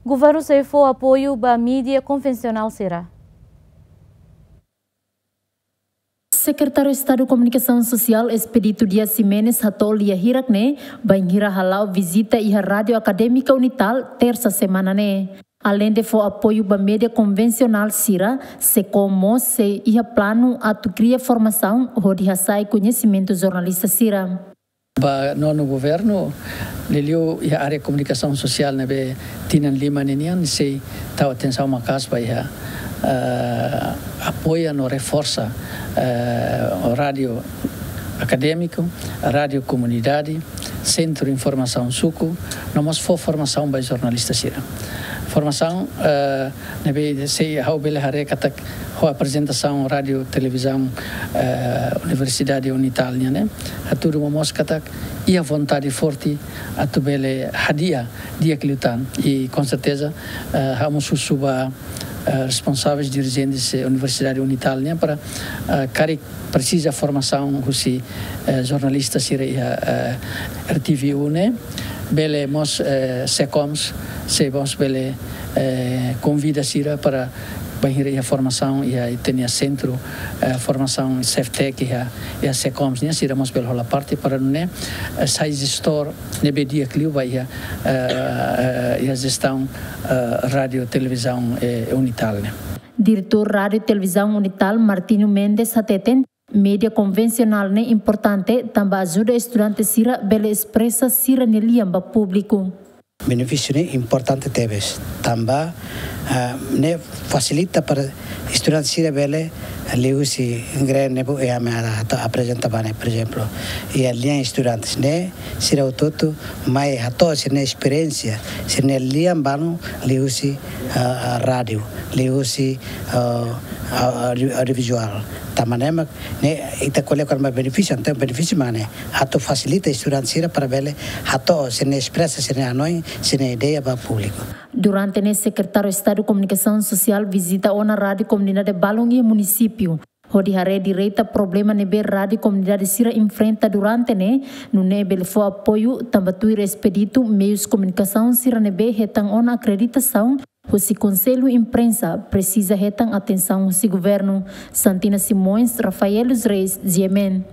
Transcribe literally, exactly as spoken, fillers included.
Governu sei fó apoiu ba mídia konvensionál sira. Sekretáriu Estadu Komunikasaun Sosiál Expedito Dias Ximenes hato'o lia hirak ne'e bainhira hala'o vizita iha Rádiu Akadémika Unital, tersa semana ne'e. Aleinde fó apoiu ba mídia konvensionál sira, SEKOM mós sei iha planu atu kria formasaun hodi hasa'e koñesimentu jornalista sira. Ba nonu governu, liuliu iha área komunikasaun sosiál ne'ebé tinan lima ninian sei tau atensaun maka'as ba iha, eh, apoia no reforsa, eh, rádiu akadémiku, rádiu komunidade, sentru informasaun suku, no mós fó formasaun ba jornalista sira. Formasaun, eh, ne'ebé sei ha'u bele haree katak ho aprezentasaun rádiu televizaun, eh, Universidade Unital nian ne'e, hatudu momoos katak iha vontade forte atu bele hadi'a di'ak liután. I com certeza, eh, ha'u mós husu ba, eh, responsáveis dirijentes, eh, Universidade Unital nian para, eh, karik presiza formasaun husi, eh, jornalista sira iha, eh, R T V U ne'e, bele mós, eh, SEKOMS, sei mós bele, eh, konvida sira para bainhira iha formasaun iha ita-nia sentru, eh, formasaun Ceftec iha, iha SEKOMS nian, sira mós bele hola parte para nune'e, eh, sai jestór ne'ebé di'ak liu ba iha, eh, eh, iha jestaun, eh, rádiu televizaun, eh, Unital ne'e. Diretór Rádiu Televizaun Unital, Martinho Mendes, hateten, mídia konvensionál ne'e importante tanba ajuda estudante sira bele espresa sira-nia lian ba públiku. Benefísiu ne'e importante tebes, tanba, ah, ne'e fasilita para estudante sira bele liuhusi green ne'ebé ami atu aprezenta ba ne'e, por ezemplu, iha lian estudantes ne'e, sira hotu-hotu mai hato'o sira-nia esperiénsia, sira-nia lian balu liuhusi, ah, ah, rádiu, liuhusi, ah, ah, audio-, audiovizuál. Tanba ne'e mak ne'e ita ko'alia kona-ba benefísiu, entaun benefísiu mak ne'e atu fasilita estudante sira para bele hato'o sira-nia espresa sira-nia hanoin, sira-nia ideia ba públiku. Durante ne'e Sekretáriu Estadu Komunikasaun Sosiál vizita ona rádiu komunidade balun iha munisípiu hodi haree direta problema ne'ebé rádiu komunidade sira enfrenta durante ne'e, nune'e bele fó apoiu tanba tuir Expedito meius komunikasaun sira ne'ebé hetan ona akreditasaun husi Konsellu Imprensa presiza hetan atensaun husi governu. Santina Simões, Rafael dos Reis, G M N.